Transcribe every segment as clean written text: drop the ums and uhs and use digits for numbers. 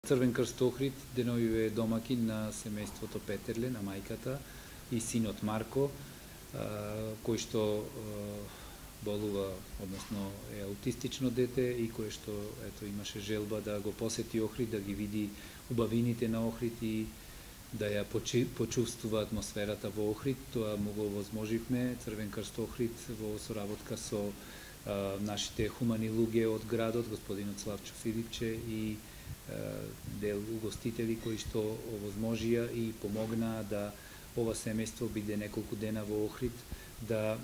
Црвен крст Охрид деновиве е домакин на семејството Петерле, на мајката и синот Марко, кој што болува, односно е аутистично дете и кој што имаше желба да го посети Охрид, да ги види убавините на Охрид и да ја почувствува атмосферата во Охрид. Тоа му го возможивме. Црвен крст Охрид во соработка со нашите хумани луѓе од градот, господинот Славчо Филипче и дел угостители кои што овозможија и помогнаа да ова семејство биде неколку дена во Охрид, да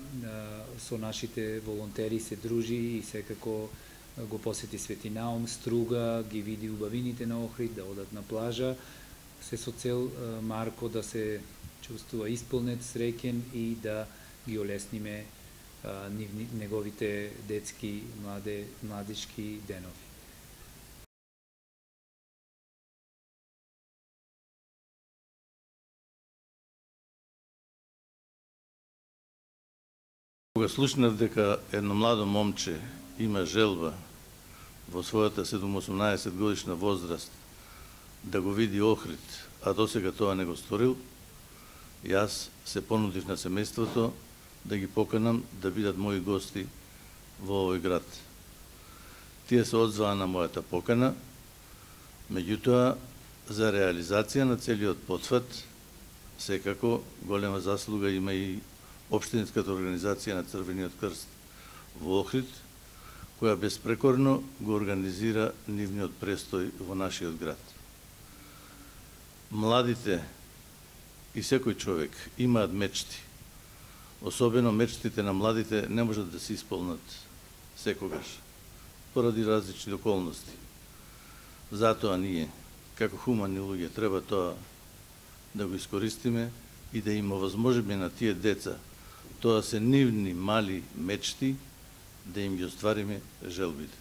со нашите волонтери се дружи и секако го посети Свети Наум, Струга, ги види убавините на Охрид, да одат на плажа, се со цел Марко да се чувствува исполнет, среќен и да ги олесниме неговите детски, младички денови. Кога слушнав дека едно младо момче има желба во својата 7-18 годишна возраст да го види Охрид, а досега тоа не го сторил, јас се понудив на семејството да ги поканам да бидат мои гости во овој град. Тие се одзваа на мојата покана, меѓутоа за реализација на целиот потфат секако голема заслуга има и Општинската организација на Црвениот крст во Охрид, која безпрекорно го организира нивниот престој во нашиот град. Младите и секој човек имаат мечти. Особено мечтите на младите не можат да се исполнат секогаш, поради различни околности. Затоа ние, како хумани луѓе, треба тоа да го искористиме и да им овозможиме на тие деца, тоа се нивни мали мечти, да им ги оствариме желбите.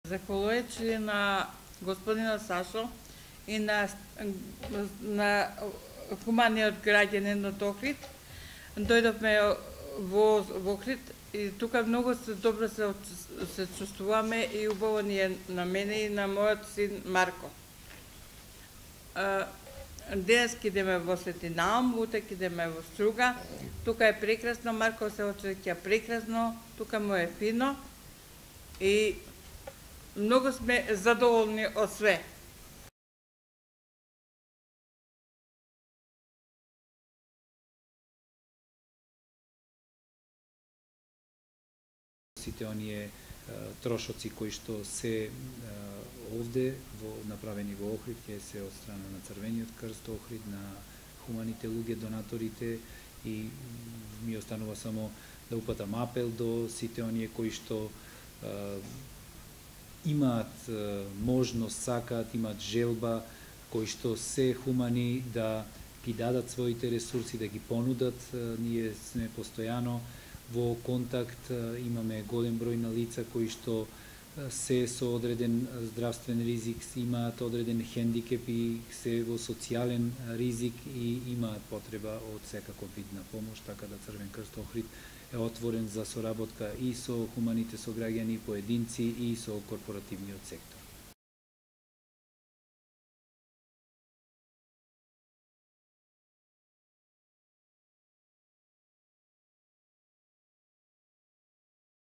Захвалувајќи на господина Сашо и на хуманиот граѓанин од Охрид, дојдовме во Охрид и тука многу добро се чувствуваме и убаво ни е на мене и на мојот син Марко. Денес ќе идеме во Свети Наум, утре ќе идеме во Струга. Тука е прекрасно, Марко се очекја прекрасно, тука му е фино и многу сме задоволни од све. Сите оние трошоци кои што се овде направени во Охрид ќе се од страна на Црвениот крст Охрид, на хуманите луѓе, донаторите, и ми останува само да упатам апел до сите оние кои што имаат можност, сакаат, имаат желба, кои што се хумани да ги дадат своите ресурси, да ги понудат. Ние сме постојано во контакт, имаме голем број на лица кои што се со одреден здравствен ризик, имаат одреден хендикеп и се во социјален ризик и имаат потреба од секаков вид на помош, така да Црвен крст Охрид е отворен за соработка и со хуманите сограѓани, поединци и со корпоративниот сектор.